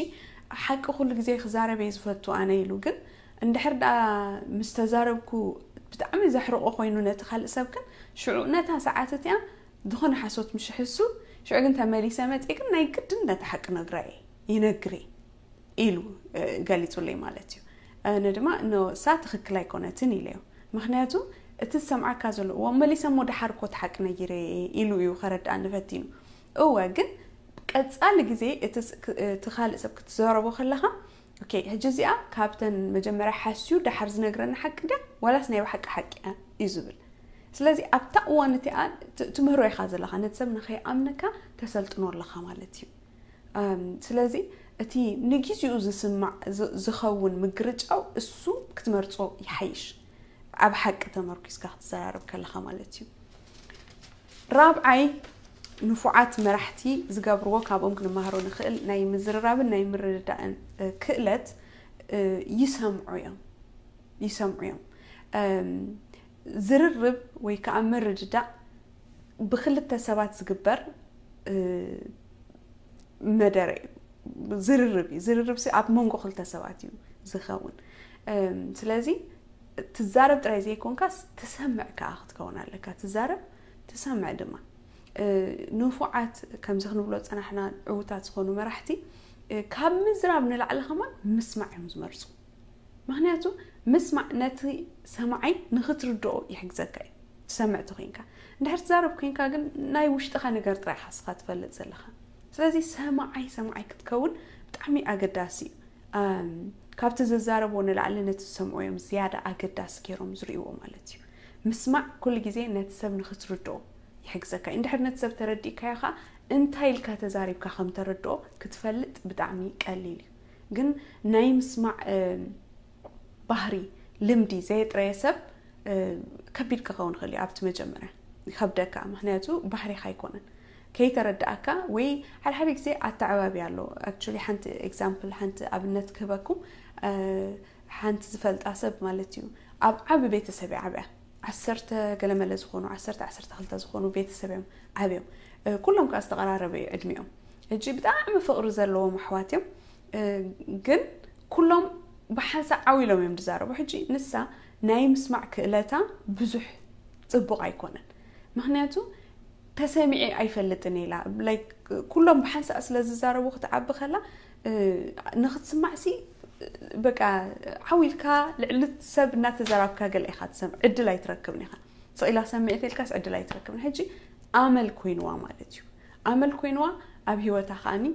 ሓቂ ኩሉ ግዜ ክዛረብ እየ ዝፈቱ ኣነ ኢሉ። ግን እንድሕር ደኣ ምስ ተዛረብኩ ብጣዕሚ ዘሕርቆ ኮይኑ ነቲ ካልእ ሰብ ግን ሽዑ ነታ ሰዓት እቲኣ ዝኾነ ሓሶት ምሽ ሕሱ ሽዑ ግን ተመሊሰ መፅእ ግን ናይ ግድን ነቲ ሓቂ ነግራ እየ ይነግር እየ ኢሉ ገሊፁለይ ማለት እዩ። ኣነ ድማ ንሳ ትኽክል ኣይኮነትን ኢለዮ። ምክንያቱ እቲ ዝሰምዓካ ዘሎ እዎ መሊሰ እሞ ደሓር እኮ እቲ ሓቂ ነጊረ እየ ኢሉ እዩ ከረድኣኒ ፈቲኑ። እወ ግን ቀፃሊ ግዜ እቲ ካልእ ሰብ ክትዘረቦ ከለኻ ኦኬ ሕጂ እዚኣ ካብተን መጀመርያ ሓስዩ ደሓር ዝነግረኒ ሓቂ ድያ ዋላስ ናይ ብሓቂ ሓቂ እያ እዩ ዝብል። ስለዚ ኣብታ እዋን እቲኣ ትምህሮ ኢኻ ዘለኻ ነቲ ሰብ ንኸይኣምነካ ተሰልጥኖ ኣለኻ ማለት እዩ። ስለዚ እቲ ንግዜኡ ዝስማዕ ዝኸውን ምግርጫው እሱ ክትመርጾ ይሓይሽ። ኣብ ሓቂ ተመርኪስካ ክትዘራረብ ከለኻ ማለት እዩ። ራብዓይ ንፉዓት መራሕቲ ዝገብርዎ ካብኦም ክንመሃሮ ንኽእል ናይ ምዝርራብን ናይ ምርድዳእን ክእለት ይሰምዑ እዮም ይሰምዑ እዮም። ዝርርብ ወይ ከዓ ምርድዳእ ብክልተ ሰባት ዝግበር መደረ እዩ። ዝርርብ እዩ ዝርርብ ኣብ መንጎ ክልተ ሰባት እዩ ዝኸውን። ስለዚ ትዛረብ ጥራይ ዘይኮንካስ ትሰምዕ ከዓ ክትከውን ኣለካ። ትዛረብ ትሰምዕ ድማ ንፉዓት ከምዚ ክንብሎ ፀናሕና ዕዉታት ዝኾኑ መራሕቲ ካብ ምዝራብ ንላዕሊ ከማን ምስማዕ እዮም ዝመርፁ። ምክንያቱ ምስማዕ ነቲ ሰማዓይ ንክትርድኦ ይሕግዘካ እዩ። ትሰምዕ ተኮይንካ እንድሕር ትዛረብ ኮይንካ ግን ናይ ውሽጥኻ ነገር ጥራይ ኢኻ ስኻ ትፈልጥ ዘለኻ። ስለዚ ሰማዓይ ሰማዓይ ክትከውን ብጣዕሚ ኣገዳሲ እዩ። ካብቲ ዝዛረብዎ ንላዕሊ ነቲ ዝሰምዑ እዮም ዝያዳ ኣገዳሲ ገይሮም ዝርእይዎ ማለት እዩ። ምስማዕ ኩሉ ግዜ ነቲ ሰብ ንክትርድኦ ይሕግዘካ እዩ። እንድሕር ነቲ ሰብ ተረዲእካዮ ከዓ እንታይ ኢልካ ተዛሪብካ ከም ተረድኦ ክትፈልጥ ብጣዕሚ ቀሊል እዩ። ግን ናይ ምስማዕ ባህሪ ልምዲ ዘየጥረየ ሰብ ከቢድ ክኸውን ይኽእል እዩ ኣብቲ መጀመርያ ይኸብደካ፣ ምክንያቱ ባህሪኻ ኣይኮነን። ከይተረዳእካ ወይ ሓደ ሓደ ግዜ ኣተዓባቢ ኣሎ። ኣክቹሊ ሓንቲ ኤግዛምፕል፣ ሓንቲ ኣብነት ክህበኩም። ሓንቲ ዝፈልጣ ሰብ ማለት እዩ፣ ኣብ ዓቢ ቤተሰብ እያ ዓብያ። ዓሰርተ ገለመለ ዝኾኑ፣ ዓሰርተ ዓሰርተ ክልተ ዝኾኑ ቤተሰብ እዮም ዓብዮም። ኩሎም ከዓ ዝተቐራረበ እዩ ዕድሚኦም። ሕጂ ብጣዕሚ ፍቕሪ ዘለዎም ኣሕዋት እዮም። ግን ኩሎም ብሓንሳእ ዓው ኢሎም እዮም ዝዛረቡ። ሕጂ ንሳ ናይ ምስማዕ ክእለታ ብዙሕ ጽቡቕ ኣይኮነን። ምክንያቱ ተሰሚዐ ኣይፈልጥን ኢላ። ላይክ ኩሎም ብሓንሳእ ስለ ዝዛረቡ ክትዓቢ ከላ ንክትስማዕ ሲ በቃ ዓው ኢልካ ልዕሊ ሰብ እናተዘራብካ ገለ ኢኻ ትሰምዕ፣ ዕድል ኣይትረክብን ኢኻ። ስቕ ኢላ ሰምዕት ኢልካስ ዕድል ኣይትረክብን። ሕጂ ኣመል ኮይንዋ ማለት እዩ። ኣመል ኮይንዋ ኣብ ህይወታ ከኣኒ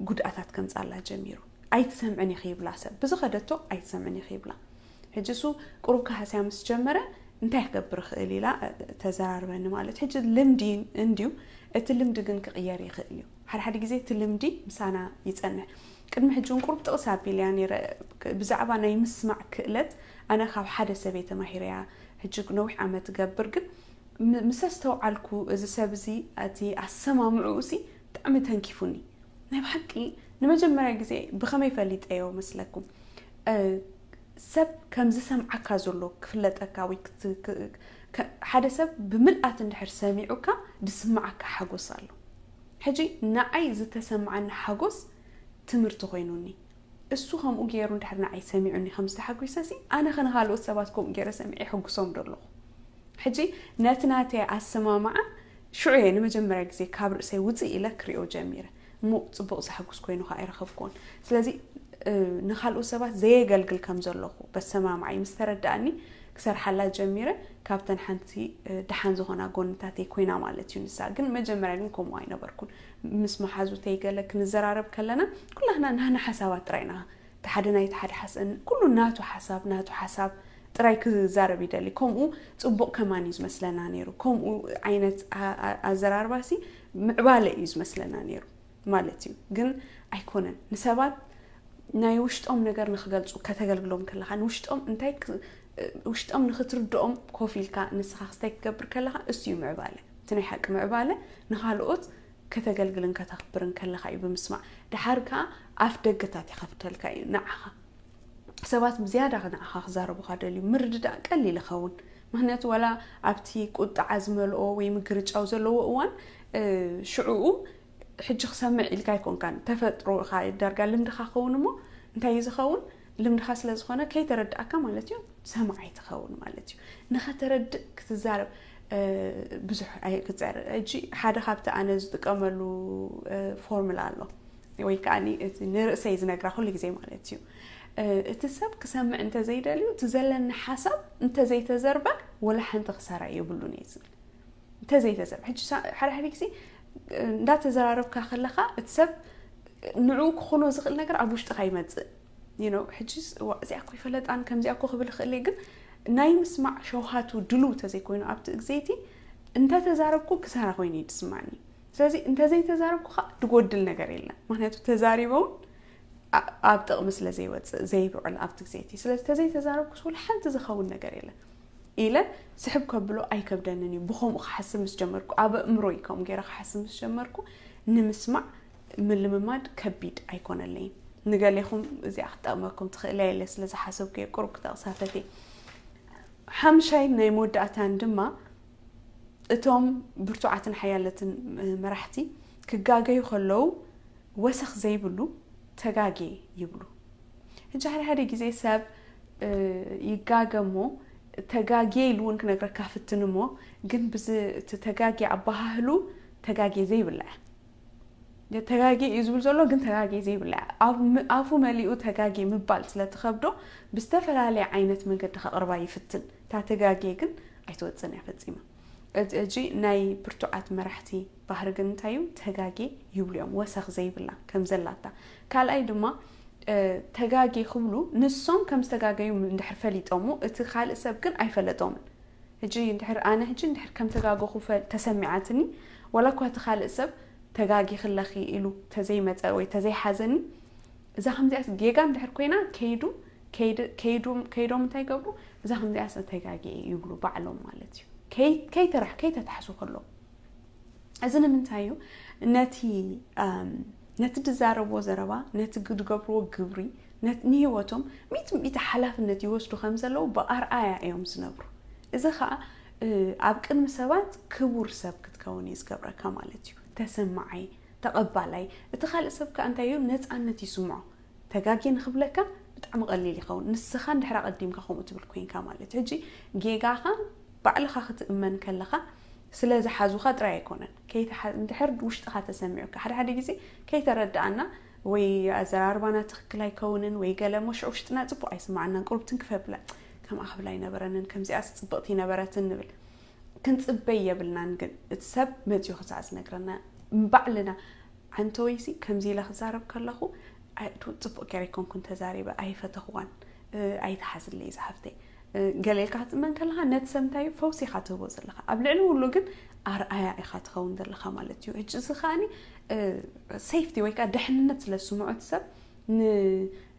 ጉድኣታት ከምፃላ ጀሚሩ። ኣይትሰምዕን ኢኺ ይብላ ሰብ፣ ብዝኸደቶ ኣይትሰምዕን ኢኺ ይብላ። ሕጂ እሱ ቁሩብ ክሃስያ ምስ ጀመረ እንታይ ክገብር ይኽእል ኢላ ተዘራርበኒ ማለት። ሕጂ ልምዲ እንድዩ፣ እቲ ልምዲ ግን ክቕየር ይኽእል እዩ። ሓደ ሓደ ግዜ እቲ ልምዲ ምሳና ይጸንሕ። ቅድሚ ሕጂ እውን ቁሩብ ጥቕስ ኣቢለያ ነይረ ብዛዕባ ናይ ምስማዕ ክእለት። ኣነ ካብ ሓደ ሰብ እየ ተማሂረያ። ሕጂ ነዊሕ ዓመት እገብር፣ ግን ምስ ኣስተውዓልኩ እዚ ሰብ እዚ እቲ ኣሰማምዕኡ ሲ ብጣዕሚ ተንኪፉኒ። ናይ ብሓቂ ንመጀመርያ ግዜ ብኸመይ ፈሊጠዮ መስለኩም? ሰብ ከም ዝሰምዓካ ዘሎ ክፍለጠካ ወይ ሓደ ሰብ ብምልኣት እንድሕር ሰሚዑካ ዝስምዓካ ሓጎስ ኣሎ። ሕጂ ንዓይ ዝተሰምዓኒ ሓጎስ ትምህርቲ ኮይኑኒ። እሱ ከምኡ ገይሩ እንድሕር ንዓይ ሰሚዑኒ ከም ዝተሓጒሰ ሲ ኣነ ከ ንኻልኦት ሰባት ከምኡ ገይረ ሰሚዐ ይሕጉሶም ዶ ኣለኹ? ሕጂ ነቲ ናተይ ኣሰማምዓ ሽዑ እየ ንመጀመርያ ግዜ ካብ ርእሰይ ውፅእ ኢለ ክሪኦ ጀሚረ። እሞ ፅቡቕ ዘሐጉስ ኮይኑ ከዓ ኣይረኸብኩዎን። ስለዚ ንካልኦት ሰባት ዘየገልግል ከም ዘለኹ በሰማምዓይ ምስ ተረዳእኒ ክሰርሓላ ጀሚረ። ካብተን ሓንቲ ደሓን ዝኾና ጎንታተይ ኮይና ማለት እዩ። ንሳ ግን መጀመርያ ግን ከምኡ ኣይነበርኩን። ምስ መሓዙተይ ገለ ክንዘራረብ ከለና ኩላህና ናና ሓሳባት ጥራይ ኢና። እቲ ሓደ ናይቲ ሓደ ሓሳብ፣ ኩሉ ናቱ ሓሳብ ናቱ ሓሳብ ጥራይ ክዛረብ ይደሊ። ከምኡ ፅቡቕ ከማን እዩ ዝመስለና ነይሩ። ከምኡ ዓይነት ኣዘራርባሲ ምዕባለ እዩ ዝመስለና ነይሩ ማለት እዩ። ግን ኣይኮነን። ንሰባት ናይ ውሽጦም ነገር ንክገልፁ ከተገልግሎም ከለካ ንውሽጦም እንታይ ውሽጦም ንክትርድኦም ኮፍ ኢልካ ንስኻ ክስታይ ክትገብር ከለካ እሱ እዩ ምዕባለ። እቲ ናይ ሓቂ ምዕባለ ንካልኦት ከተገልግልን ከተኽብርን ከለካ እዩ ብምስማዕ። ድሓር ከዓ ኣፍ ደገታት ይኸፍተልካ እዩ ንዓኻ። ሰባት ብዝያዳ ንዓኻ ክዛረቡኻ ደልዩ ምርድዳእ ቀሊል ይኸውን። ምክንያቱ ዋላ ኣብቲ ቁጥዓ ዝመልኦ ወይ ምግርጫው ዘለዎ እዋን ሽዕኡ ሕጂ ክሰምዕ ኢልካ ኣይኮንካን። ተፈጥሮ ኢኻ ዳርጋ ልምድኻ ክኸውን እሞ እንታይ እዩ ዝኸውን? ልምድኻ ስለ ዝኾነ ከይተረዳእካ ማለት እዩ ሰማዓይ ትኸውን ማለት እዩ። ንኸተረድእ ክትዛረብ ብዙሕ ኣይክፀር። ሕጂ ሓደ ካብቲ ኣነ ዝጥቀመሉ ፎርሙላ ኣሎ ወይ ከዓ እቲ ንርእሰይ ዝነግራ ኩሉ ግዜ ማለት እዩ። እቲ ሰብ ክሰምዕ እንተዘይደልዩ እቲ ዘለኒ ሓሳብ እንተዘይተዘርበ ወላ ሓንቲ ክሳራ የብሉን እየ ዝብል። እንተዘይተዘርበ ሕጂ ሓደ ሓደ ግዜ እንዳተዘራረብካ ከለካ እቲ ሰብ ንዕኡ ክኾኖ ዝኽእል ነገር ኣብ ውሽጥካ ይመፅእ። ሕጂ እዚኣ እኮ ይፈለጣን ከምዚኣ እኮ ክብል ይኽእል ግን ናይ ምስማዕ ሸውሃቱ ድሉ ተዘይኮይኑ ኣብቲ ግዜቲ እንተተዛረብኩ ክሳራ ኮይኑ እዩ ዝስማዕኒ። ስለዚ እንተዘይተዛረብኩ ከዓ ድጎድል ነገር የለን። ምክንያቱ ተዛሪበውን ኣብ ጥቕሚ ስለ ዘይወፅእ ዘይብዕል ኣብቲ ግዜቲ። ስለዚ ተዘይተዛረብኩስ ወላ ሓንቲ ዝኸውን ነገር የለን ኢለ ስሕብ ከብሎ ኣይከብደንን እዩ። ብኸምኡ ክሓስብ ምስ ጀመርኩ፣ ኣብ ኣእምሮይ ከምኡ ገይረ ክሓስብ ምስ ጀመርኩ ንምስማዕ ምልምማድ ከቢድ ኣይኮነለይን። ንገሌኹም እዚኣ ክትጠቕመኩም ትኽእል እያ ኢለ ስለ ዝሓሰብኩ እየ ቁሩብ ክጠቕሳ ፈትየ። ሓምሻይ ናይ መወዳእታን ድማ እቶም ብርቱዓትን ሓያለትን መራሕቲ ክጋገዩ ከለዉ ወሰኽ ዘይብሉ ተጋጌ ይብሉ። ሕጂ ሓደ ሓደ ግዜ ሰብ ይጋገ እሞ ተጋጌ ኢሉ እውን ክነግረካ ፍትን እሞ ግን ብዚ እቲ ተጋጌ ኣበሃህሉ ተጋጌ ዘይብላ እያ። ተጋጌ እዩ ዝብል ዘሎ ግን ተጋጌ ዘይብላ እያ። ኣፉ መሊኡ ተጋጌ ምባል ስለትኸብዶ ብዝተፈላለየ ዓይነት መንገዲ ከቕርባ ይፍትን። እታ ተጋጌ ግን ኣይትወፅን እያ ፈፂማ። እዚ ናይ ብርቱዓት መራሕቲ ባህሪ ግን እንታይ እዩ? ተጋጌ ይብሉ እዮም፣ ወሰኽ ዘይብላ ከም ዘላታ። ካልኣይ ድማ ተጋጌ ክብሉ ንሶም ከም ዝተጋገዩ እንድሕር ፈሊጦሞ እቲ ካልእ ሰብ ግን ኣይፈለጦምን። ሕጂ እንድሕር ኣነ ሕጂ እንድሕር ከም ተጋገኹ ተሰሚዓትኒ፣ ዋላ እኳ እቲ ካልእ ሰብ ተጋጊ ክለኺ ኢሉ ተዘይመፀ ወይ ተዘይሓዘኒ፣ እዛ ከምዚኣስ ጌጋ እንድሕር ኮይና ከይዱ ከይዶም እንታይ ይገብሩ? እዛ ከምዚኣስ ተጋጊ ይብሉ ባዕሎም ማለት እዩ። ከይተራሕ ከይተታሕሱ ከሎ እዚ ንምንታይ እዩ? ነቲ ነቲ ዝዛረብዎ ዘረባ፣ ነቲ ዝገብርዎ ግብሪ፣ ንህይወቶም ሚእቲ ሚእቲ ሓላፍነት ይወስዱ ከም ዘለዉ ብኣርኣያ እዮም ዝነብሩ። እዚ ከዓ ኣብ ቅድሚ ሰባት ክቡር ሰብ ክትከውን እዩ ዝገብረካ ማለት እዩ። ተሰማዓይ፣ ተቐባላይ። እቲ ካልእ ሰብ ከዓ እንታይ እዩ? ነፃነት ይስምዖ። ተጋጌ ንክብለካ ብጣዕሚ ቀሊል ይኸውን። ንስኻ እንድሕር ኣቐዲምካ ከምኡ ትብል ኮይንካ ማለት እዩ። ሕጂ ጌጋኻ ባዕልኻ ክትእመን ከለኻ ስለ ዝሓዙኻ ጥራይ ኣይኮነን። ከይተሓ- እንድሕር ውሽጥኻ ተሰሚዑካ፣ ሓደ ሓደ ግዜ ከይተረዳኣና ወይ ኣዘራርባና ትኽክል ኣይከውንን ወይ ገለ እሞ ሽዑ ውሽጥና ጽቡቕ ኣይስማዓናን። ቁሩብ ትንክፍ የብላ፣ ከምኣ ክብላ ኣይነበረንን፣ ከምዚኣስ ጽብቕቲ ነበረትን ንብል። ክንጽበይ የብልናን። ግን እቲ ሰብ መጺኡ ክሳዕ ዝነግረና ባዕልና፣ ኣንተ ወይሲ ከምዚ ኢለ ክዛረብ ከለኹ ጽቡቕ ገይረ ኣይኮንኩን ተዛሪበ፣ ኣይፈተኽዋን፣ ኣይትሓዝለይ ዝሓፍተይ፣ ገለ ኢልካ ክትእመን ከለኻ ነቲ ሰብ እንታይ እዩ ፈውሲ ኢኻ ትህቦ ዘለኻ። ኣብ ልዕሊ ኩሉ ግን ኣርኣያ ኢኻ ትኸውን ዘለኻ ማለት እዩ። ሕጂ እዚ ከኣኒ ሴፍቲ ወይ ከዓ ድሕንነት ስለ ዝስምዖ እቲ ሰብ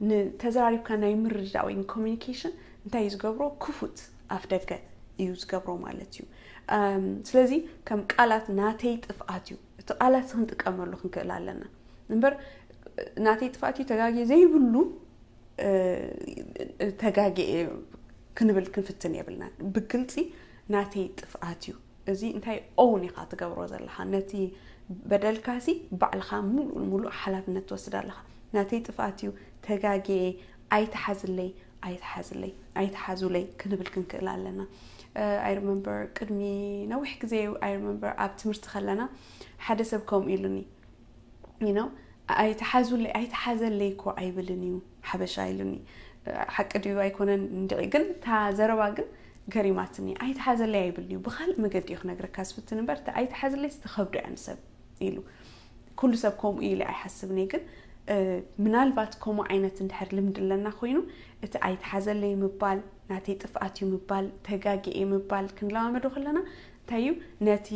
ንተዘራሪብካ ናይ ምርድዳእ ወይ ኮሚኒኬሽን እንታይ እዩ ዝገብሮ? ክፉት ኣፍ ደገ እዩ ዝገብሮ ማለት እዩ። ስለዚ ከም ቃላት ናተይ ጥፍኣት እዩ፣ እቲ ቃላት ክንጥቀመሉ ክንክእል ኣለና እምበር ናተይ ጥፍኣት እዩ ተጋግየ ዘይብሉ ተጋግየ ክንብል ክንፍትን የብልና። ብግልፂ ናተይ ጥፍኣት እዩ፣ እዚ እንታይ ኦውን ኢኻ ትገብሮ ዘለኻ፣ ነቲ በደልካሲ ባዕልኻ ሙሉእ ንሙሉእ ሓላፍነት ትወስድ ኣለኻ። ናተይ ጥፍኣት እዩ፣ ተጋግየ፣ ኣይትሓዝለይ፣ ኣይትሓዝለይ፣ ኣይትሓዙለይ ክንብል ክንክእል ኣለና። I remember ቅድሚ ነዊሕ ግዜ I remember ኣብ ትምህርቲ ከለና ሓደ ሰብ ከምኡ ኢሉኒ you know ኣይትሓዙለይ ኣይትሓዘለይ እኮ ኣይብልን እዩ ሓበሻ ኢሉኒ። ሓቂ ድዩ ኣይኮነን እንድዒ ግን እታ ዘረባ ግን ገሪማትኒ። ኣይትሓዘለይ ኣይብልን እዩ፣ ብካልእ መገዲ እዩ ክነግረካ ዝፍትን እምበር እታ ኣይትሓዘለይ ዝተኸብዶ እያ ንሰብ ኢሉ። ኩሉ ሰብ ከምኡ ኢለ ኣይሓስብን እየ ግን ምናልባት ከምኡ ዓይነት እንድሕር ልምዲ ኣለና ኮይኑ እቲ ኣይትሓዘለይ ምባል ናተይ ጥፍኣት እዩ ምባል ተጋጊ እየ ምባል ክንለማመዶ ከለና እንታይ እዩ ነቲ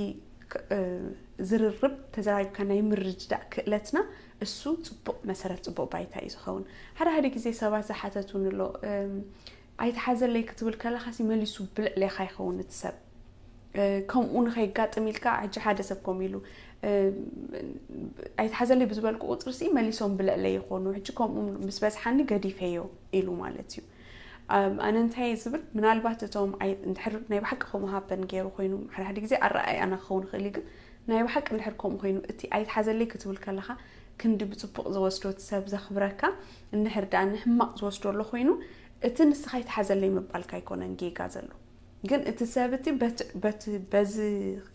ዝርርብ ተዘራሪብካ ናይ ምርድዳእ ክእለትና እሱ ፅቡቕ መሰረት ፅቡቕ ባይታ እዩ ዝኸውን። ሓደ ሓደ ግዜ ሰባት ዝሓተቱኒ ኣሎ ኣይትሓዘለይ ክትብል ከለካ ሲ መሊሱ ብልዕሌካ ይኸውን እቲ ሰብ ከምኡ ንከይጋጥም ኢልካ ሕጂ ሓደ ሰብ ከምኡ ኢሉ ኣይትሓዘለይ ብዝበልኩ ቁፅሪ ሲ መሊሶም ብልዕለይ ይኾኑ ሕጂ ከምኡ ምስ በዝሓኒ ገዲፈዮ ኢሉ ማለት እዩ። ኣነ እንታይ ዝብል ምናልባት እቶም እንድሕር ናይ ብሓቂ ከምኡ ሃበን ገይሩ ኮይኑ ሓደ ሓደ ግዜ ኣረኣእያና ክኸውን ይኽእል እዩ ግን ናይ ብሓቂ እንድሕር ከምኡ ኮይኑ እቲ ኣይትሓዘለይ ክትብል ከለካ ክንዲ ብፅቡቕ ዝወስዶ እቲ ሰብ ዘኽብረካ እንድሕር ደኣ ንሕማቕ ዝወስዶ ኣሎ ኮይኑ እቲ ንስኻ ኣይትሓዘለይ ምባልካ ኣይኮነን ጌጋ ዘሎ ግን እቲ ሰብ እቲ በዚ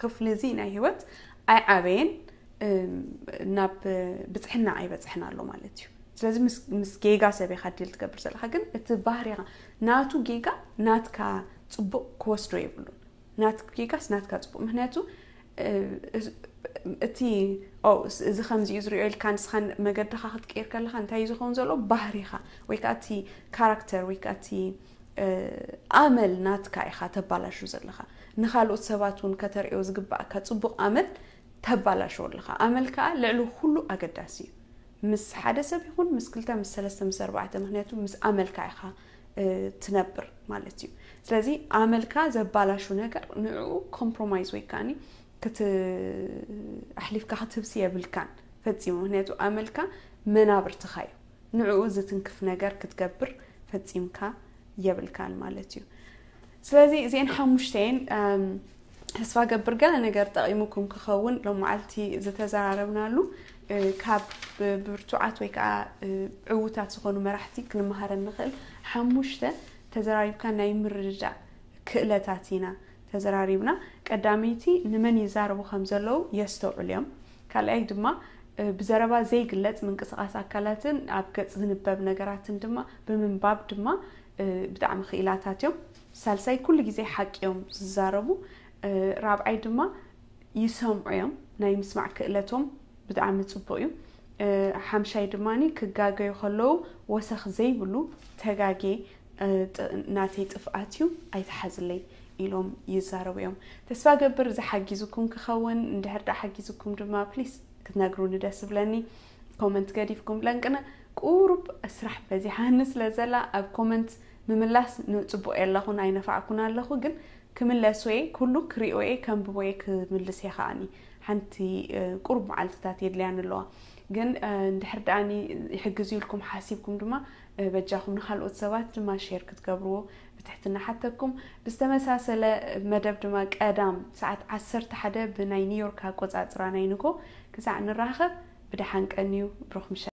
ክፍሊ እዚ ናይ ህይወት ኣይዓበየን ናብ ብፅሕና ኣይበፅሕን ኣሎ ማለት እዩ። ስለዚ ምስ ጌጋ ሰብ ኢኻ ዲል ትገብር ዘለካ ግን እቲ ባህሪኻ ናቱ ጌጋ ናትካ ፅቡቕ ክወስዶ የብሉን። ናትክ ጌጋስ ናትካ ፅቡቕ ምክንያቱ እቲ እዚ ከምዚ እዩ ዝሪኦ ኢልካ ንስኻ መገድኻ ክትቀይር ከለካ እንታይ እዩ ዝኸውን ዘሎ ባህሪኻ ወይ ከዓ እቲ ካራክተር ወይ ከዓ እቲ ኣመል ናትካ ኢኻ ተባላሹ ዘለኻ። ንካልኦት ሰባት እውን ከተርእዮ ዝግባእካ ፅቡቕ ኣመል ተባላሽዎ ኣለኻ። ኣመል ከዓ ልዕሊ ኩሉ ኣገዳሲ እዩ። ምስ ሓደ ሰብ ይኹን ምስ ክልተ ምስ ሰለስተ ምስ ኣርባዕተ ምክንያቱ ምስ ኣመልካ ኢኻ ትነብር ማለት እዩ። ስለዚ ኣመልካ ዘባላሹ ነገር ንዕኡ ኮምፕሮማይዝ ወይ ከዓኒ ኣሕሊፍካ ክትህብሲ የብልካን ፈፂሙ። ምክንያቱ ኣመልካ መናብርትኻ እዩ። ንዕኡ ዝትንክፍ ነገር ክትገብር ፈፂምካ የብልካን ማለት እዩ። ስለዚ እዚአን ሓሙሽተ እየን። ተስፋ ገብር ገለ ነገር ጠቒሙኩም ክኸውን ሎም መዓልቲ ዝተዘራረብናሉ ካብ ብርቱዓት ወይ ከዓ ዕዉታት ዝኾኑ መራሕቲ ክንመሃረ ንኽእል ሓሙሽተ ተዘራሪብካ ናይ ምርድዳእ ክእለታት ኢና ተዘራሪብና። ቀዳመይቲ ንመን ይዛረቡ ከም ዘለዉ የስተውዕሉ እዮም። ካልኣይ ድማ ብዘረባ ዘይግለጽ ምንቅስቓስ ኣካላትን ኣብ ገጽ ዝንበብ ነገራትን ድማ ብምንባብ ድማ ብጣዕሚ ክኢላታት እዮም። ሳልሳይ ኩሉ ግዜ ሓቂ እዮም ዝዛረቡ። ራብዓይ ድማ ይሰምዑ እዮም፣ ናይ ምስማዕ ክእለቶም ብጣዕሚ ጽቡቕ እዩ። ሓምሻይ ድማ ክጋገዩ ከለዉ ወሰኽ ዘይብሉ ተጋጌ ናተይ ጥፍኣት እዩ ኣይትሓዝለይ ኢሎም ይዛረቡ እዮም። ተስፋ ገብር ዝሓጊዙኩም ክኸውን እንድሕር ዳ ሓጊዙኩም ድማ ፕሊስ ክትነግሩኒ ደስ ብለኒ። ኮመንት ገዲፍኩም ለንቅነ ቁሩብ ስራሕ በዚሓኒ ስለ ዘላ ኣብ ኮመንት ምምላስ ንጽቡቕ የለኹን ኣይነፋዕኩን ኣለኹ፣ ግን ክምለስ ወይ ኩሉ ክሪኦ እየ፣ ከንብቦ እየ፣ ክምልስ እየ ከዓኒ። ሓንቲ ቁሩብ መዓልትታት የድልያን ኣለዋ። ግን እንድሕር ደኣኒ ይሕግዝ ኢልኩም ሓሲብኩም ድማ በጃኹም ንካልኦት ሰባት ድማ ሼር ክትገብርዎ ብትሕትና ሓተኩም። ብዝተመሳሰለ መደብ ድማ ቀዳም ሰዓት ዓሰርተ ሓደ ብናይ ኒውዮርክ ኣቆጻጽራ ናይ ንጎ ክሳዕ ንራኸብ ብደሓን ቀንዩ። ብሩኽ ምሸት።